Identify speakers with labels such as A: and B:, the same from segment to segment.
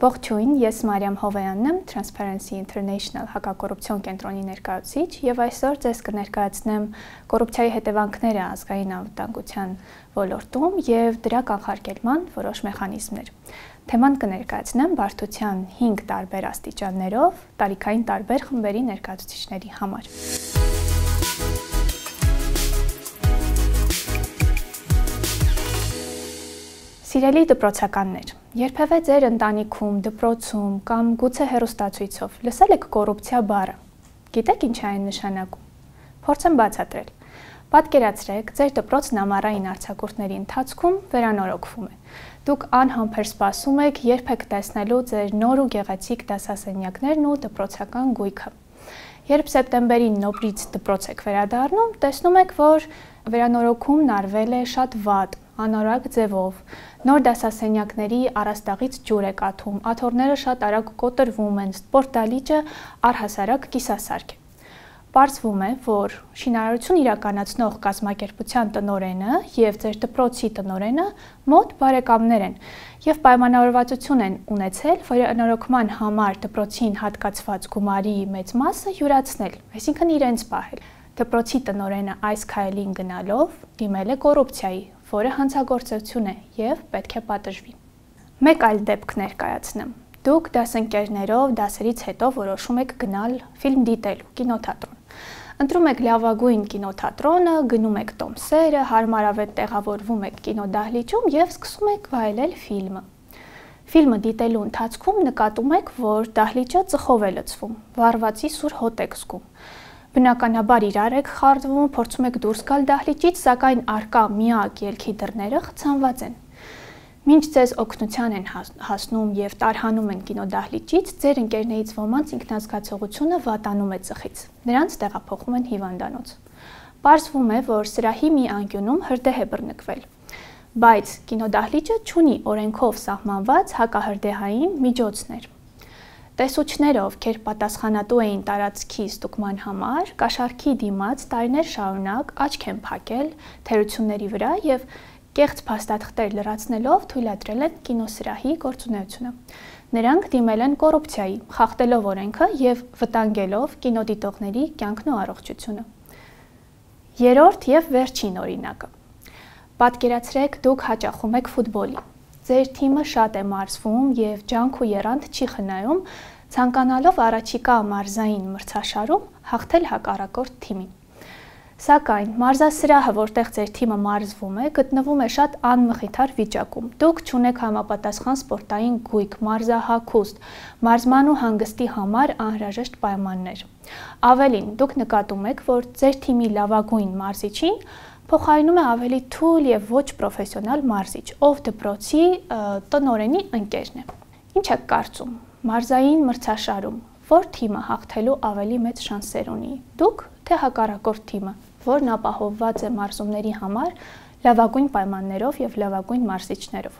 A: Ողջույն, ես Մարիամ Հովեյանն եմ, Transparency International հակակոռուպցիոն կենտրոնի ներկայացուցիչ եւ այսօր ձեզ կներկայացնեմ կոռուպցիայի հետևանքները ազգային անվտանգության ոլորտում եւ դրա կանխարգելման որոշ մեխանիզմներ։ Թեման կներկայացնեմ բարդության 5 տարբեր աստիճաններով տարիքային տարբեր խմբերի ներկայացուցիչների համար։ Սիրելի դպրոցականներ, երբևէ ձեր ընտանիքում, դպրոցում կամ գուցե հեռուստացույցով լսել եք կոռուպցիա բառը։ Գիտեք ինչ է այն նշանակում։ Փորձեմ բացատրել։ Պատկերացրեք, ձեր դպրոցն ամառային արձակուրդների ընթացքում վերանորոգվում է։ Դուք անհամբեր սպասում եք, երբ եք տեսնելու ձեր նոր ու գեղեցիկ դասասենյակներն ու դպրոցական գույքը։ Երբ սեպտեմբերին նորից դպրոց եք վերադառնում, տեսնում եք, որ վերանորոգումն արվել է շատ վատ, անորակ ձևով։ Նոր դասասենյակների առաստաղից ջուր է կաթում, աթոռները շատ արագ կոտրվում են, սպորտալիճը առհասարակ կիսասարք է։ Պարզվում է, որ շինարարություն իրականացնող կազմակերպության տնօրենը եւ ձեր դպրոցի տնօրենը մոտ բարեկամներ են եւ պայմանավորվածություն են ունեցել վերանորոգման համար դպրոցին հատկացված գումարի մեծ մասը յուրացնել, այսինքն իրենց պահել։ Դպրոցի տնօրենը այս քայլին գնալով դիմել է կոռուպցիայի, որը հանցագործություն է եւ պետք է պատժվի։ Մեկ այլ դեպք ներկայացնեմ։ Դուք դասընկերներով դասերից հետո որոշում եք գնալ ֆիլմ դիտելու կինոթատրոն։ Ընտրում եք լավագույն կինոթատրոնը, գնում եք տոմսերը, հարմարավետ տեղավորվում եք կինոդահլիճում եւ սկսում եք վայելել ֆիլմը։ Ֆիլմը դիտելու ընթացքում նկատում եք, որ դահլիճը ծխով է լցվում, վառվածի սուր հոտ եք զգում։ Բնականաբար իրար եք խառնվում, փորձում եք դուրս գալ դահլիճից, սակայն առկա միակ ելքի դռները խցանված են։ Մինչ ձեզ օգնության են հասնում եւ տարհանում են կինոդահլիճից, ձեր ընկերներից ոմանց ինքնազգացողությունը վատանում է ծխից։ Նրանց տեղափոխում են հիվանդանոց։ Պարզվում է, որ սրահի մի անկյունում հրդեհ է բռնկվել, բայց կինոդահլիճը չունի օրենքով սահմանված հակահրդեհային միջոցներ։ Տեսուչները, ովքեր պատասխանատու էին տարածքի ստուգման համար, կաշառքի դիմաց տարիներ շարունակ աչք են փակել թերությունների վրա եւ կեղծ փաստաթղթեր լրացնելով թույլատրել են կինոսրահի գործունեությունը։ Նրանք դիմել են կոռուպցիայի, խախտելով օրենքը եւ վտանգելով կինոդիտողների կյանքն ու առողջությունը։ Երրորդ եւ վերջին օրինակը։ Պատկերացրեք, դուք հաճախում եք ֆուտբոլի։ Ձեր թիմը շատ է մարզվում եւ ջանք ու եռանդ չի խնայում, ցանկանալով առաջիկա մարզային մրցաշարում հաղթել հակառակորդ թիմին։ Սակայն մարզասրահը, որտեղ ձեր թիմը մարզվում է, գտնվում է շատ անմխիթար վիճակում։ Դուք չունեք համապատասխան սպորտային գույք, մարզահագուստ, մարզման ու հանգստի համար անհրաժեշտ պայմաններ։ Ավելին, դուք նկատում եք, որ ձեր թիմի լավագույն մարզիչին փոխարինում է ավելի թույլ եւ ոչ պրոֆեսիոնալ մարզիչ, ով դպրոցի տնօրենի ընկերն է։ Ինչ եք կարծում, մարզային մրցաշարում որ թիմը հաղթելու ավելի մեծ շանսեր ունի։ Դուք թե հակառակորդ թիմը, որն ապահովված է մարզումների համար լավագույն պայմաններով եւ լավագույն մարզիչներով։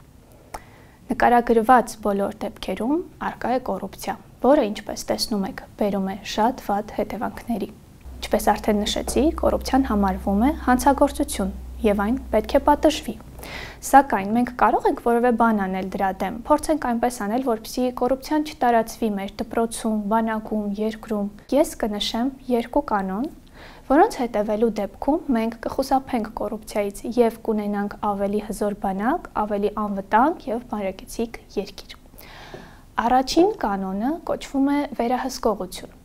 A: Նկարագրված բոլոր դեպքերում առկա է կոռուպցիա, որը, ինչպես տեսնում եք, բերում է շատ վատ հետևանքների։ Ինչպես արդեն նշեցի, կոռուպցիան համարվում է հանցագործություն եւ այն պետք է պատժվի։ Սակայն մենք կարող ենք որևէ բան անել դրա դեմ, փորձենք այնպես անել, որպեսզի կոռուպցիան չտարածվի մեր դպրոցում, բանակում, երկրում։ Ես կնշեմ 2 կանոն, որոնց հետևելու դեպքում մենք կխուսափենք կոռուպցիայից եւ կունենանք ավելի հզոր բանակ, ավելի անվտանգ եւ բարեկեցիկ երկիր։ Առաջին կանոնը կոչվում է վերահսկողություն։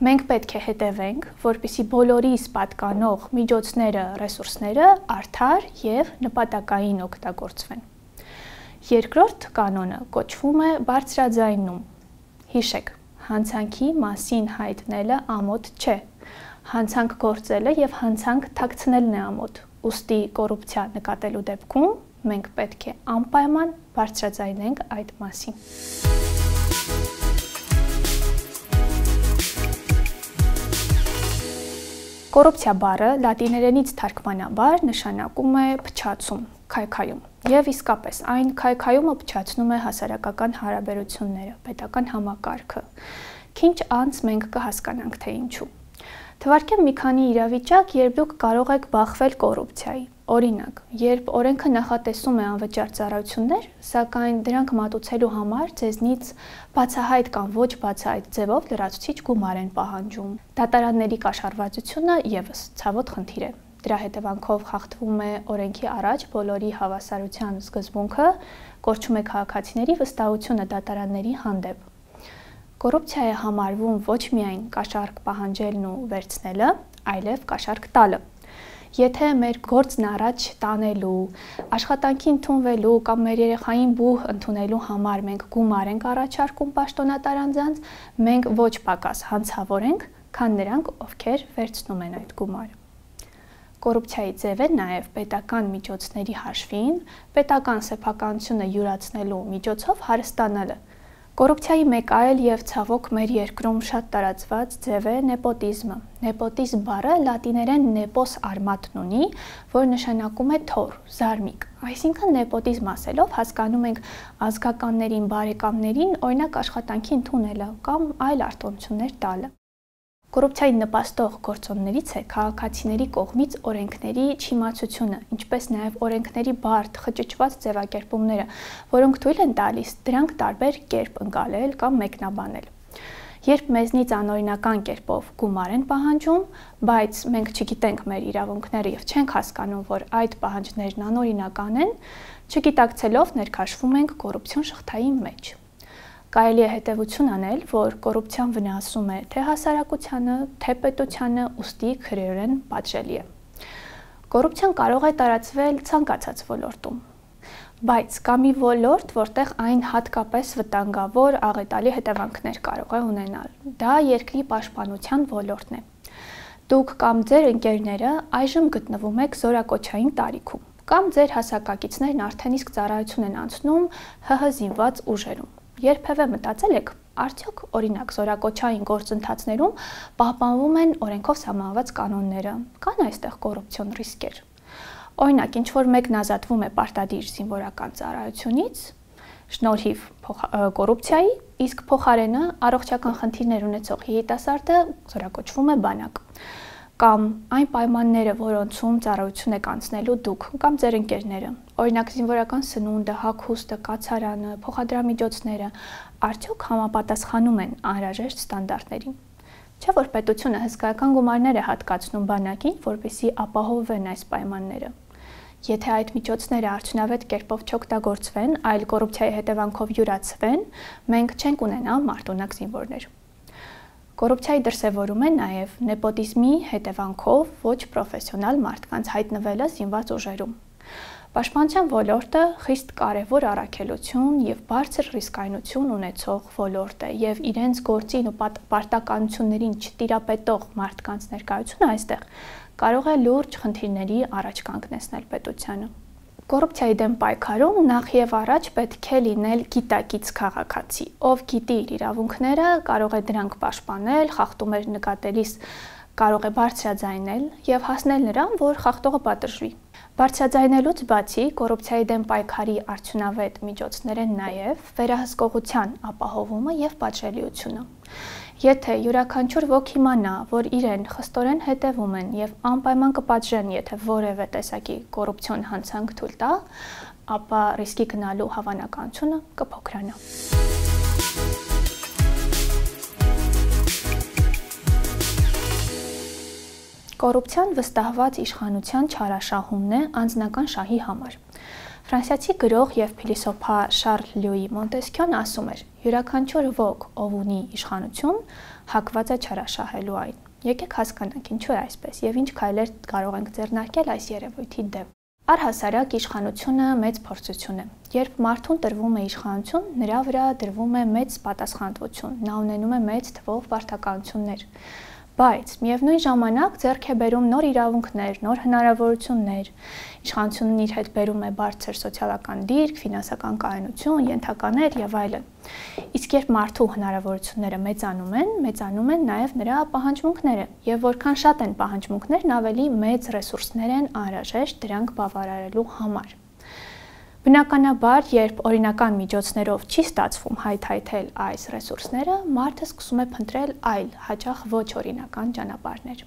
A: Մենք պետք է հետևենք, որպեսզի բոլորիս պատկանող միջոցները, ռեսուրսները արդար եւ նպատակային օգտագործվեն։ Երկրորդ կանոնը կոչվում է բարձրաձայնում։ Հիշեք, հանցանքի մասին հայտնելը ամոթ չէ։ Հանցանք գործելը եւ հանցանք թաքցնելն է ամոթ։ Ուստի կոռուպցիա նկատելու դեպքում մենք պետք է անպայման բարձրաձայնենք այդ մասին։ Կոռուպցիա բառը լատիներենից թարգմանաբար նշանակում է փչացում, քայքայում։ Եվ իսկապես այն քայքայումը փչացնում է հասարակական հարաբերությունները, պետական համակարգը։ Քիչ անց մենք կհասկանանք, թե ինչու։ Թվարկեմ մի քանի իրավիճակ, երբ դուք կարող եք բախվել կոռուպցիայի։ Օրինակ, երբ օրենքը նախատեսում է անվճար ծառայություններ, սակայն դրանք մատուցելու համար ձեզնից բացահայտ կամ ոչ բացահայտ ձևով լրացուցիչ գումար են պահանջում, դատարանների կաշառվածությունը ևս ցավոտ խնդիր է։ Դրա հետևանքով խախտվում է օրենքի առաջ բոլորի հավասարության սկզբունքը, կորչում է քաղաքացիների վստահությունը դատարանների հանդեպ։ Կոռուպցիա է համարվում ոչ միայն կաշառք պահանջելն ու վերցնելը, այլև կաշառք տալը։ Եթե մեր գործն առաջ տանելու, աշխատանքի ընդունվելու կամ մեր երեխային բուհ ընդունելու համար մենք գումար ենք առաջարկում պաշտոնատար անձանց, մենք ոչ պակաս հանցավոր ենք, քան նրանք, ովքեր վերցնում են այդ գումարը։ Կոռուպցիայի ձև է նաև պետական միջոցների հաշվին, պետական սեփականությունը յուրացնելու միջոցով հարստանալը։ Կոռուպցիայի մեկ այլ եւ ցավոք մեր երկրում շատ տարածված ձև է նեպոտիզմը։ Նեպոտիզմ բառը լատիներեն nepos armatum ունի, որ նշանակում է թոռ, զարմիկ։ Այսինքն նեպոտիզմ ասելով հասկանում ենք ազգականներին, բարեկամներին օրինակ աշխատանքի ընդունելը կամ այլ արտոնություններ տալը։ Կոռուպցիային նպաստող գործոններից է քաղաքացիների կողմից օրենքների չիմացությունը, ինչպես նաև օրենքների բարդ, խճճված ձևակերպումները, որոնք թույլ են տալիս դրանք տարբեր կերպ ընկալել կամ մեկնաբանել։ Երբ մեզնից անօրինական կերպով գումար են պահանջում, բայց մենք չգիտենք մեր իրավունքները եւ չենք հասկանում, որ այդ պահանջներն անօրինական են, չգիտակցելով ներքաշվում ենք կոռուպցիոն շղթայի մեջ։ Կարելի է հետևություն անել, որ կոռուպցիան վնասում է թե հասարակությանը, թե պետությանը, ուստի քրեորեն պատժելի է։ Կոռուպցիան կարող է տարածվել ցանկացած ոլորտում, բայց կա մի ոլորտ, որտեղ այն հատկապես վտանգավոր աղետալի հետևանքներ կարող է ունենալ։ Դա երկրի պաշտպանության ոլորտն է։ Դուք կամ ձեր ընկերները այժմ գտնվում եք զորակոչային տարիքում, կամ ձեր հասակակիցներն արդեն իսկ ծառայություն են անցնում ՀՀ զինված ուժերում։ Երբևէ մտածել եք, արդյոք օրինակ զորակոչային գործընթացներում պահպանվում են օրենքով սահմանված կանոնները, կան այստեղ կոռուպցիոն ռիսկեր։ Օրինակ, ինչ որ մեկն ազատվում է պարտադիր զինվորական ծառայությունից, շնորհիվ կոռուպցիայի, իսկ փոխարենը առողջական խնդիրներ ունեցող երիտասարդը զորակոչվում է բանակ։ Կամ այն պայմանները, որոնցում ծառայություն եք անցնելու դուք կամ ձեր ընկերները, օրինակ զինվորական սնունդը, հագուստը, կացարանը, փոխադրամիջոցները, արդյոք համապատասխանում են անհրաժեշտ ստանդարտներին։ Չէ՞ որ պետությունը հսկայական գումարներ է հատկացնում բանակին, որպեսզի ապահովեն այս պայմանները։ Եթե այդ միջոցները արդյունավետ կերպով չօգտագործվեն, այլ կոռուպցիայի հետևանքով յուրացվեն, մենք չենք ունենա մարտունակ զինվորներ։ Կոռուպցիայի դրսևորում է նաև նեպոտիզմի հետևանքով ոչ պրոֆեսիոնալ մարդկանց հայտնվելը զինված ուժերում։ Պաշտպանության ոլորտը խիստ կարևոր առաքելություն եւ բարձր ռիսկայնություն ունեցող ոլորտ է եւ իրենց գործին ու պարտականություններին չտիրապետող մարդկանց ներկայությունը այստեղ կարող է լուրջ խնդիրների առաջ կանգնեցնել պետությանը։ Կոռուպցիայի դեմ պայքարում նախ եւ առաջ պետք է լինել գիտակից քաղաքացի, ով գիտի իր իրավունքները, կարող է դրանք պաշտպանել, խախտումներ նկատելիս կարող է բարձրաձայնել եւ հասնել նրան, որ խախտողը պատժվի։ Բարձրաձայնելուց բացի կոռուպցիայի դեմ պայքարի արդյունավետ միջոցներ են նաև վերահսկողության ապահովումը եւ պատժելիությունը։ Եթե յուրաքանչյուր ոք իմանա, որ իրեն խստորեն հետևում են եւ անպայման կպատժեն, եթե որևէ տեսակի կոռուպցիոն հանցանք թույլ տա, ապա ռիսկի գնալու հավանականությունը կփոքրանա։ Կոռուպցիան վստահված իշխանության չարաշահումն է անձնական շահի համար։ Ֆրանսիացի գրող եւ փիլիսոփա Շարլ Լյուի Մոնտեսքյոն ասում էր. յուրաքանչյուր ոք, ով ունի իշխանություն, հակված է չարաշահելու այն։ Եկեք հասկանանք ինչու է այսպես եւ ինչ քայլեր կարող ենք ձեռնարկել այս երևույթի դեմ։ Առհասարակ իշխանությունը մեծ փորձություն է։ Երբ մարդուն տրվում է իշխանություն, նրա վրա դրվում է մեծ պատասխանատվություն, նա ունենում է մեծ թվով պարտականություններ։ Բայց միևնույն ժամանակ ձեռք է բերում նոր իրավունքներ, նոր հնարավորություններ։ Իշխանությունն իր հետ բերում է բարձր սոցիալական դիրք, ֆինանսական կայունություն, ենթականեր եւ այլն։ Իսկ երբ մարդու հնարավորությունները մեծանում են նաև նրա պահանջմունքները, եւ որքան շատ են պահանջմունքներն, ավելի մեծ ռեսուրսներ են անհրաժեշտ դրանք բավարարելու համար։ Բնականաբար, երբ օրինական միջոցներով չի ստացվում հայթայթել այս ռեսուրսները, մարդը սկսում է փնտրել այլ, հաճախ ոչ օրինական ճանապարհներ։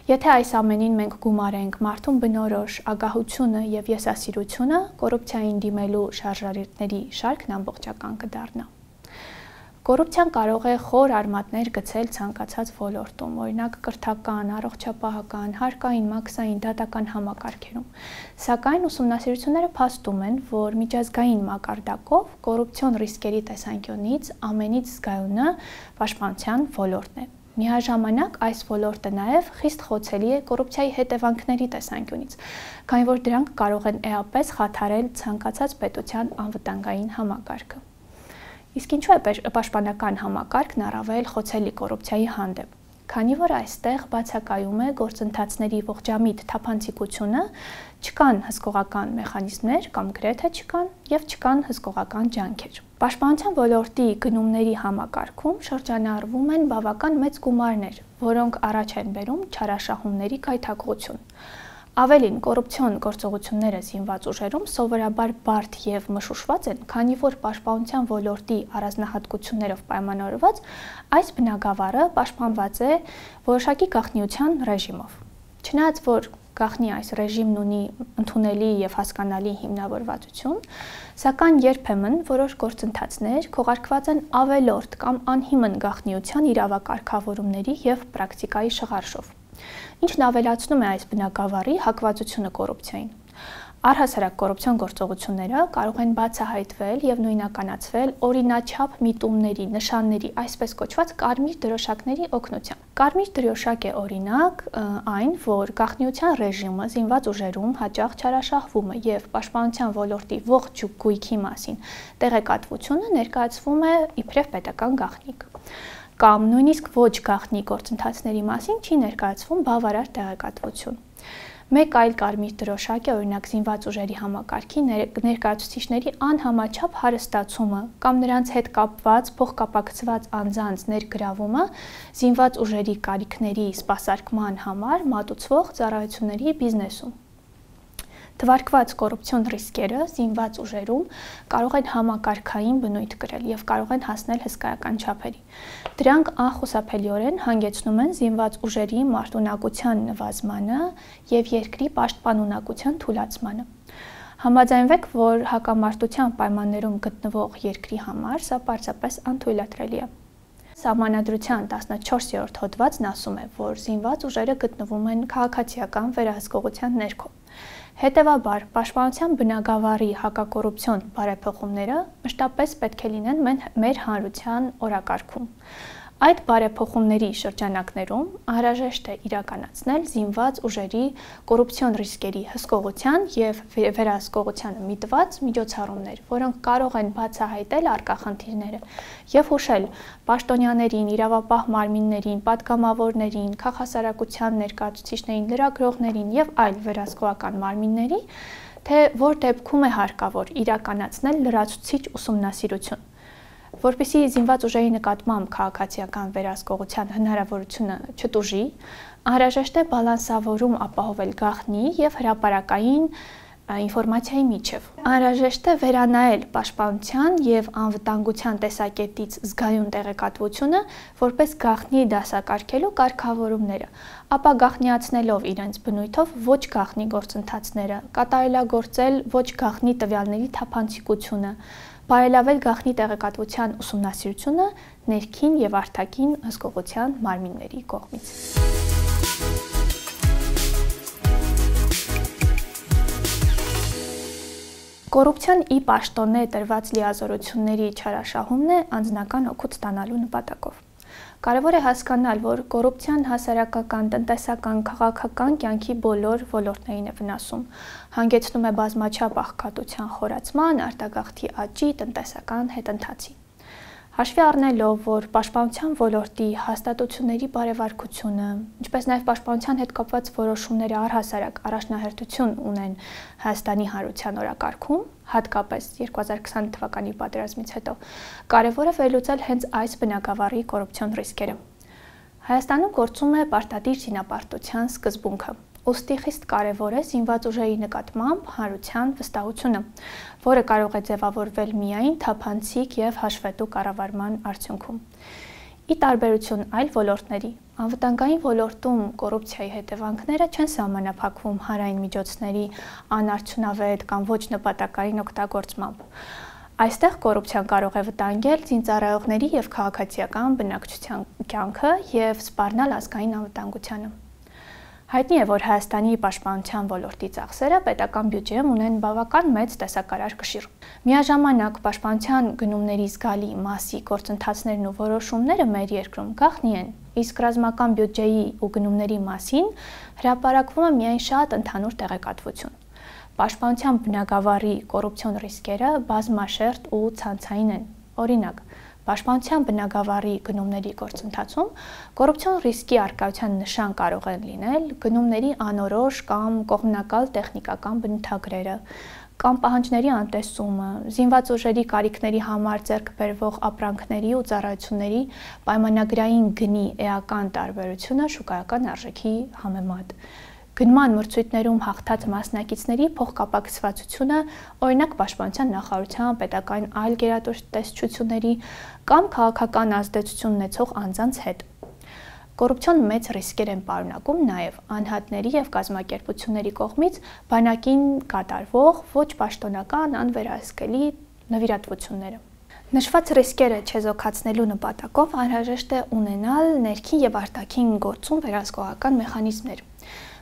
A: Եթե այս ամենին մենք գումարենք մարդուն բնորոշ ագահությունը եւ եսասիրությունը, կոռուպցիային դիմելու շարժառիթների շարքն ամբողջական կդառնա։ Կոռուպցիան կարող է խոր արմատներ գցել ցանկացած ոլորտում, օրինակ կրթական, առողջապահական, հարկային, մաքսային, դատական համակարգերում։ Սակայն ուսումնասիրությունները փաստում են, որ միջազգային մակարդակով կոռուպցիոն ռիսկերի տեսանկյունից ամենից զգայունը պաշտպանության ոլորտն է։ Միաժամանակ այս ոլորտը նաև խիստ խոցելի է կոռուպցիայի հետևանքների տեսանկյունից, քանի որ դրանք կարող են էապես խաթարել ցանկացած պետության անվտանգային համակարգը։ Իսկ ինչու է պաշտպանական համակարգն առավել խոցելի կոռուպցիայի հանդեպ, քանի որ այստեղ բացակայում է գործընթացների ողջամիտ թափանցիկությունը, չկան հսկողական մեխանիզմներ կամ գրեթե չկան եւ չկան հսկողական ջանքեր։ Պաշտպանության ոլորտի գնումների համակարգում շրջանառվում են բավական մեծ գումարներ, որոնք առաջ են բերում չարաշահումների գայթակղություն։ Ավելին, կոռուպցիոն գործողությունները զինված ուժերում սովորաբար բարդ եւ մշուշված են, քանի որ պաշտպանության ոլորտի առանձնահատկություններով պայմանավորված այս բնագավառը պաշտպանված է որոշակի գաղտնիության ռեժիմով։ Չնայած որ գաղտնի այս ռեժիմն ունի ընդունելի եւ հասկանալի հիմնավորվածություն, սակայն երբեմն որոշ գործընթացներ քողարկված են ավելորդ կամ անհիմն գաղտնիության իրավակարգավորումների եւ պրակտիկայի շղարշով, ինչն ավելացնում է այս բնագավառի հակվածությունը կոռուպցիային։ Առհասարակ կոռուպցիոն գործողությունները կարող են բացահայտվել եւ նույնականացվել օրինաչափ միտումների, նշանների, այսպես կոչված կարմիր դրոշակների օգնությամբ։ Կարմիր դրոշակ է օրինակ այն, որ գաղտնիության ռեժիմը զինված ուժերում հաճախ չարաշահվում է եւ պաշտպանության ոլորտի ողջ գույքի մասին տեղեկատվությունը ներկայացվում է իբրև պետական գաղտնիք։ Կամ նույնիսկ ոչ գաղտնի գործընթացների մասին չի ներկայացվում բավարար տեղեկատվություն։ Մեկ այլ կարմիր դրոշակ է օրինակ զինված ուժերի համակարգի ներկայացուցիչների անհամաչափ հարստացումը կամ նրանց հետ կապված փոխկապակցված անձանց ներգրավումը զինված ուժերի կարիքների սպասարկման համար մատուցվող ծառայությունների բիզնեսում։ Թվարկված կոռուպցիոն ռիսկերը զինված ուժերում կարող են համակարգային բնույթ կրել եւ կարող են հասնել հսկայական չափերի։ Դրանք անխուսափելիորեն հանգեցնում են զինված ուժերի մարտունակության նվազմանը եւ երկրի պաշտպանունակության թուլացմանը։ Համաձայնվեք, որ հակամարտության պայմաններում գտնվող երկրի համար սա պարզապես անթույլատրելի է։ Սահմանադրության 14-րդ հոդվածն ասում է, որ զինված ուժերը գտնվում են քաղաքացիական վերահսկողության ներքո։ Հետևաբար, պաշտպանության բնագավառի հակակոռուպցիոն բարեփոխումները մշտապես պետք է լինեն մեր հանրության օրակարգում։ Այդ բարեփոխումների շրջանակներում անհրաժեշտ է իրականացնել զինված ուժերի կոռուպցիոն ռիսկերի հսկողության եւ վերահսկողությանը միտված միջոցառումներ, որոնք կարող են բացահայտել առկա խնդիրները եւ հուշել պաշտոնյաներին, իրավապահ մարմիններին, պատգամավորներին, քաղաքասարակության ներկայացուցիչներին, լրագրողներին եւ այլ վերահսկողական մարմինների, թե որ դեպքում է հարկավոր իրականացնել լրացուցիչ ուսումնասիրություն։ Որպեսզի զինված ուժերի նկատմամբ քաղաքացիական վերահսկողության հնարավորությունը չտուժի, անհրաժեշտ է բալանսավորում ապահովել գաղտնի եւ հրապարակային ինֆորմացիայի միջև։ Անհրաժեշտ է վերանայել պաշտպանության եւ անվտանգության տեսակետից զգայուն տեղեկատվությունը որպես գաղտնի դասակարգելու կարգավորումները, ապա գաղտնիացնելով իրենց բնույթով ոչ գաղտնի գործընթացները, կատարելագործել ոչ գաղտնի տվյալների թափանցիկությունը, բարելավել գաղտնի տեղեկատվության ուսումնասիրությունը ներքին եւ արտաքին հսկողության մարմինների կողմից։ Կոռուպցիան ի պաշտոնե տրված լիազորությունների չարաշահումն է անձնական օգուտ ստանալու նպատակով։ Կարևոր է հասկանալ, որ կոռուպցիան հասարակական, տնտեսական, քաղաքական կյանքի բոլոր ոլորտներին է վնասում, հանգեցնում է բազմաչափ աղքատության խորացման, արտագաղթի աճի, տնտեսական հետընթացի։ Հաշվի առնելով, որ պաշտպանության ոլորտի հաստատությունների բարեվարկությունը, ինչպես նաև պաշտպանության հետ կապված որոշումները առհասարակ առաջնահերթություն ունեն Հայաստանի հանրության օրակարգում, հատկապես 2020 թվականի պատերազմից հետո, կարևոր է վերլուծել հենց այս բնագավառի կոռուպցիոն ռիսկերը։ Հայաստանում գործում է պարտադիր զինապարտության սկզբունքը։ Ուստի խիստ կարևոր է զինված ուժերի նկատմամբ հանրության վստահությունը, որը կարող է ձևավորվել միայն թափանցիկ եւ հաշվետու կառավարման արդյունքում։ Ի տարբերություն այլ ոլորտների, Անվտանգային ոլորտում կոռուպցիայի հետևանքները չեն սահմանափակվում հանրային միջոցների անարդյունավետ կամ ոչ նպատակային օգտագործմամբ։ Այստեղ կոռուպցիան կարող է վտանգել զինծառայողների և քաղաքացիական բնակչության կյանքը և սպառնալ ազգային անվտանգությանը։ Հայտնի է, որ Հայաստանի պաշտպանության ոլորտի ծախսերը պետական բյուջեում ունեն բավական մեծ տեսակարար կշիռ։ Միաժամանակ պաշտպանության գնումների զգալի մասի գործընթացներն ու որոշումները մեր երկրում գաղտնի են, իսկ ռազմական բյուջեի ու գնումների մասին հրապարակվում է միայն շատ ընդհանուր տեղեկատվություն։ Պաշտպանության բնագավառի կոռուպցիոն ռիսկերը բազմաշերտ ու ցանցային են։ Օրինակ, պաշտպանության բնագավառի գնումների գործընթացում կոռուպցիոն ռիսկի առկայության նշան կարող են լինել գնումների անորոշ կամ կողմնակալ տեխնիկական բնութագրերը, կամ պահանջների անտեսումը, զինված ուժերի կարիքների համար ձեռք բերվող ապրանքների ու ծառայությունների պայմանագրային գնի էական տարբերությունը շուկայական արժեքի համեմատ, գնման մրցույթներում հաղթած մասնակիցների փոխկապակցվածությունը, օրինակ պաշտպանության նախարարության, պետական այլ գերատեսչությունների կամ քաղաքական ազդեցություն ունեցող անձանց հետ։ Կոռուպցիոն մեծ ռիսկեր են պարունակում նաև անհատների և կազմակերպությունների կողմից բանակին կատարվող ոչ պաշտոնական անվերահսկելի նվիրատվությունները։ Նշված ռիսկերը չեզոքացնելու նպատակով անհրաժեշտ է ունենալ ներքին և արտաքին գործում վերահսկողական մեխանիզմներ։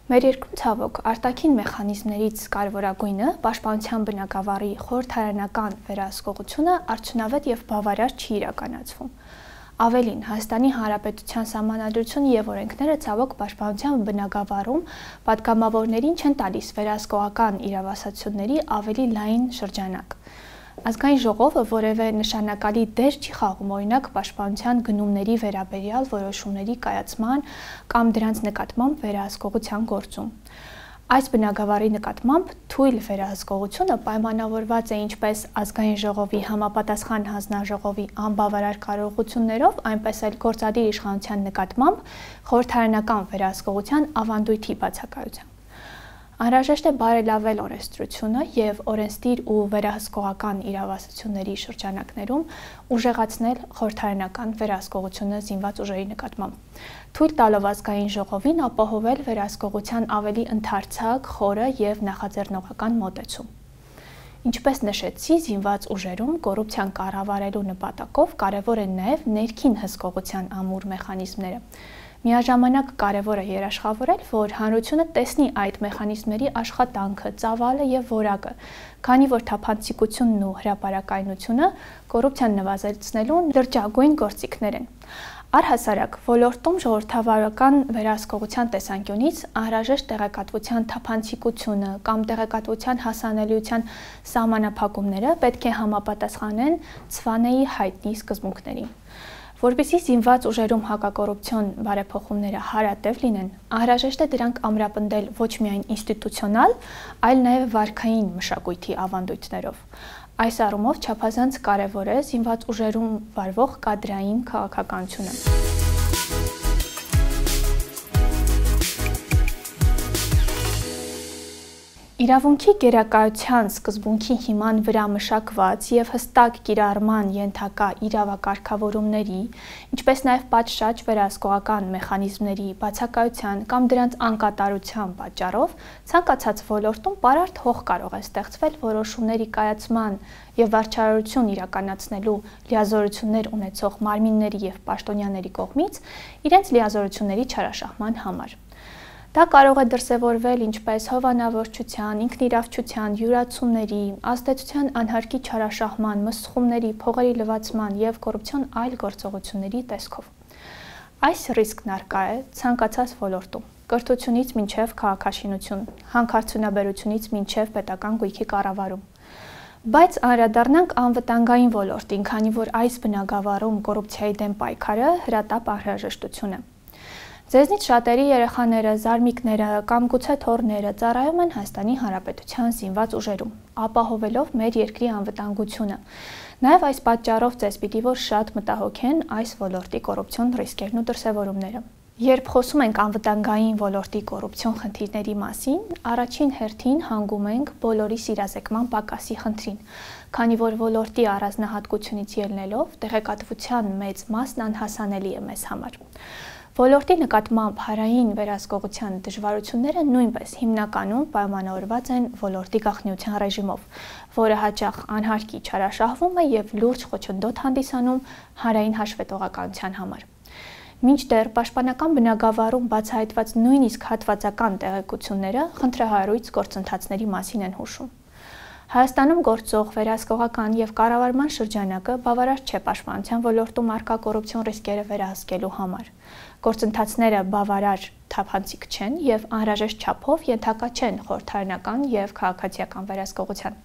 A: Մեր երկրում ցավոք արտաքին մեխանիզմներից կարևորագույնը պաշտպանության բնագավառի խորհրդարանական վերահսկողությունը արդյունավետ և բավարար չի իրականացվում։ Ավելին, Հայաստանի Հանրապետության Սահմանադրությունը և օրենքները ցավոք պաշտպանության բնագավառում պատգամավորներին չեն տալիս վերահսկողական իրավասացությունների ավելի լայն շրջանակ։ Ազգային ժողովը որևէ նշանակալի դեր չի խաղում օրինակ պաշտպանության գնումների վերաբերյալ որոշումների կայացման կամ դրանց նկատմամբ վերահսկողության գործում։ Այս բնագավառի նկատմամբ թույլ վերահսկողությունը պայմանավորված է ինչպես Ազգային ժողովի համապատասխան հանձնաժողովի անբավարար կարողություններով, այնպես էլ գործադիր իշխանության նկատմամբ խորհրդարանական վերահսկողության ավանդույթի բացակայությամբ։ Անհրաժեշտ է բարելավել օրենսդրությունը և օրենսդիր ու վերահսկողական իրավասությունների շրջանակներում ուժեղացնել խորհրդարանական վերահսկողությունը զինված ուժերի նկատմամբ, թույլ տալով Ազգային ժողովին ապահովել վերահսկողության ավելի ընդարձակ, խորը և նախաձեռնողական մոտեցում։ Ինչպես նշեցի, զինված ուժերում կոռուպցիան կառավարելու նպատակով կարևոր են նաև ներքին հսկողության ամուր մեխանիզմները։ Միաժամանակ կարևոր է երաշխավորել, որ հանրությունը տեսնի այդ մեխանիզմների աշխատանքը, ծավալը և որակը, քանի որ թափանցիկությունն ու հրապարակայնությունը կոռուպցիան նվազեցնելու լրջագույն գործիքներ են։ Առհասարակ, ոլորտում ժողովրդավարական վերահսկողության տեսանկյունից անհրաժեշտ տեղեկատվության թափանցիկությունը կամ տեղեկատվության հասանելիության սահմանափակումները պետք է համապատասխանեն ՑՎԱՆ-ի հայտնի սկզբունքներին։ Որպեսզի զինված ուժերում հակակոռուպցիոն բարեփոխումները հարատև լինեն, անհրաժեշտ է դրանք ամրապնդել ոչ միայն ինստիտուցիոնալ, այլ նաև վարքային մշակույթի ավանդույթներով։ Այս առումով չափազանց կարևոր է զինված ուժերում վարվող կադրային քաղաքականությունը։ Իրավունքի գերակայության սկզբունքի հիման վրա մշակված և հստակ կիրառման ենթակա իրավակարգավորումների, ինչպես նաև պատշաճ վերահսկողական մեխանիզմների բացակայության կամ դրանց անկատարության պատճառով ցանկացած ոլորտում պարարտ հող կարող է ստեղծվել որոշումների կայացման և վարչարարություն իրականացնելու լիազորություններ ունեցող մարմինների և պաշտոնյաների կողմից իրենց լիազորությունների չարաշահման համար։ Դա կարող է դրսևորվել ինչպես հովանավորչության, ինքնիրավչության, յուրացումների, ազդեցության անհարկի չարաշահման, մսխումների, փողերի լվացման և կոռուպցիոն այլ գործողությունների տեսքով։ Այս ռիսկն առկա է ցանկացած ոլորտում, կրթությունից մինչև քաղաքաշինություն, հանքարդյունաբերությունից մինչև պետական գույքի կառավարում։ Բայց անդրադառնանք անվտանգային ոլորտին, քանի որ այս բնագավառում կոռուպցիայի դեմ պայքարը հրատապ անհրաժեշտություն է։ Ձեզնից շատերի երեխաները, զարմիկները կամ գուցե թոռները ծառայում են Հայաստանի Հանրապետության զինված ուժերում, ապահովելով մեր երկրի անվտանգությունը։ Նաև այս պատճառով ձեզ պիտի որ շատ մտահոգեն այս ոլորտի կոռուպցիոն ռիսկերն ու դրսևորումները։ Երբ խոսում ենք անվտանգային ոլորտի կոռուպցիոն խնդիրների մասին, առաջին հերթին հանգում ենք բոլորի սիրազեկման պակասի խնդրին, քանի որ ոլորտի առանձնահատկությունից ելնելով տեղեկատվության մեծ մասն անհասանելի է մեզ համար։ Ոլորտի նկատմամբ հանրային վերահսկողության դժվարությունները նույնպես հիմնականում պայմանավորված են ոլորտի գաղտնիության ռեժիմով, որը հաճախ անհարկի չարաշահվում է եւ լուրջ խոչընդոտ հանդիսանում հանրային հաշվետվողականության համար։ Մինչդեռ պաշտպանական բնագավառում բացահայտված նույնիսկ հատվածական տեղեկությունները խնդրահարույց գործընթացների մասին են հուշում։ Հայաստանում գործող վերահսկողական եւ կառավարման շրջանակը բավարար չէ պաշտպանության ոլորտում առկա կոռուպցիոն ռիսկերը վերահսկելու համար։ Գործընթացները բավարար թափանցիկ չեն եւ անհրաժեշտ չափով ենթակա չեն խորհրդարանական եւ քաղաքացիական վերահսկողության։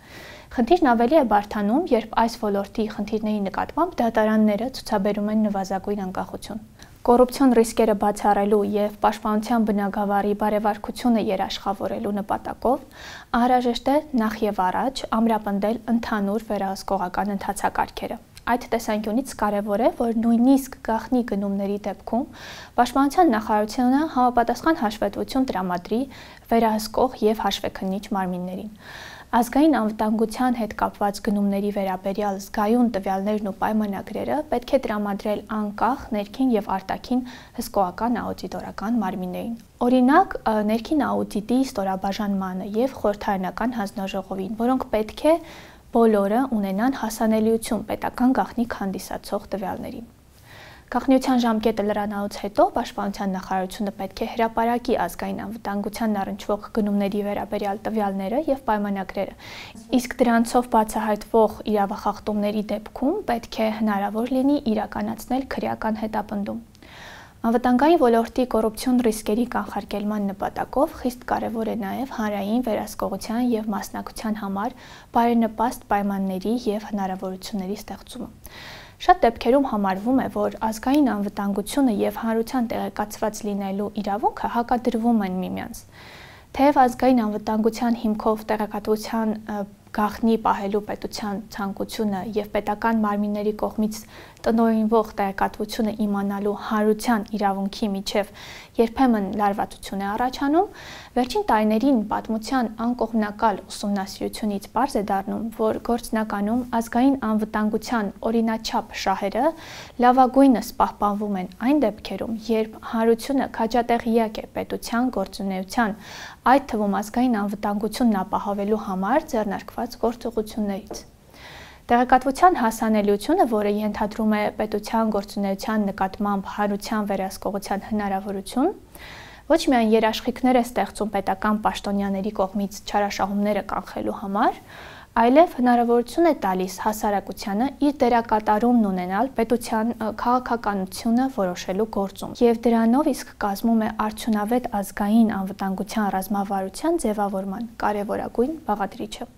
A: Խնդիրն ավելի է բարդանում, երբ այս ոլորտի խնդիրների նկատմամբ դատարանները ցուցաբերում են նվազագույն անկախություն։ Կոռուպցիոն ռիսկերը բացառելու եւ պաշտպանության բնագավառի բարեվարկությունը երաշխավորելու նպատակով անհրաժեշտ է նախ եւ առաջ ամրապնդել ընդհանուր վերահսկողական ընթացակարգերը։ Այդ տեսանկյունից կարևոր է, որ նույնիսկ գաղտնի գնումների դեպքում Պաշտպանության նախարարությունը համապատասխան հաշվետվություն տրամադրի վերահսկող եւ հաշվեկնիչ մարմիններին։ Ազգային անվտանգության հետ կապված գնումների վերաբերյալ զգայուն տվյալներն ու պայմանագրերը պետք է տրամադրել անկախ ներքին եւ արտաքին հսկողական աուդիտորական մարմիններին։ Օրինակ, ներքին աուդիտի ստորաբաժանմանը եւ խորհրդարանական հանձնաժողովին, որոնք պետք է բոլորը ունենան հասանելիություն պետական գաղտնիք հանդիսացող տվյալներին։ Գաղտնիության ժամկետը լրանալուց հետո Պաշտպանության նախարարությունը պետք է հրապարակի ազգային անվտանգությանն առնչվող գնումների վերաբերյալ տվյալները եւ պայմանագրերը, իսկ դրանցով բացահայտվող իրավախախտումների դեպքում պետք է հնարավոր լինի իրականացնել քրեական հետապնդում։ Անվտանգային ոլորտի կոռուպցիոն ռիսկերի կանխարգելման նպատակով խիստ կարևոր է նաև հանրային վերահսկողության եւ մասնակցության համար բարենպաստ պայմանների եւ հնարավորությունների ստեղծումը։ Շատ դեպքերում համարվում է, որ ազգային անվտանգությունը եւ հանրության տեղեկացված լինելու իրավունքը հակադրվում են միմյանց։ Թեև ազգային անվտանգության հիմքով տեղեկատվության գաղտնի պահելու պետության ցանկությունը եւ պետական մարմինների կողմից տնօրինվող տեղեկատվությունը իմանալու հանրության իրավունքի միջև երբեմն լարվածություն է առաջանում, վերջին տարիներին պատմության անկողմնակալ ուսումնասիրությունից պարզ է դառնում, որ գործնականում ազգային անվտանգության օրինաչափ շահերը լավագույնս պահպանվում են այն դեպքերում, երբ հանրությունը քաջատեղյակ է պետության գործունեության, այդ թվում ազգային անվտանգությունն ապահովելու համար ձեռնարկված գործողություններից։ Տեղեկատվության հասանելիությունը, որը ենթադրում է պետության գործունեության նկատմամբ հանրության վերահսկողության հնարավորություն, ոչ միայն երաշխիքներ է ստեղծում պետական պաշտոնյաների կողմից չարաշահումները կանխելու համար, այլև հնարավորություն է տալիս հասարակությանը իր դերակատարումն ունենալ պետության քաղաքականությունը որոշելու գործում եւ դրանով իսկ կազմում է արդյունավետ ազգային անվտանգության ռազմավարության ձևավորման կարևորագույն բաղադրիչը։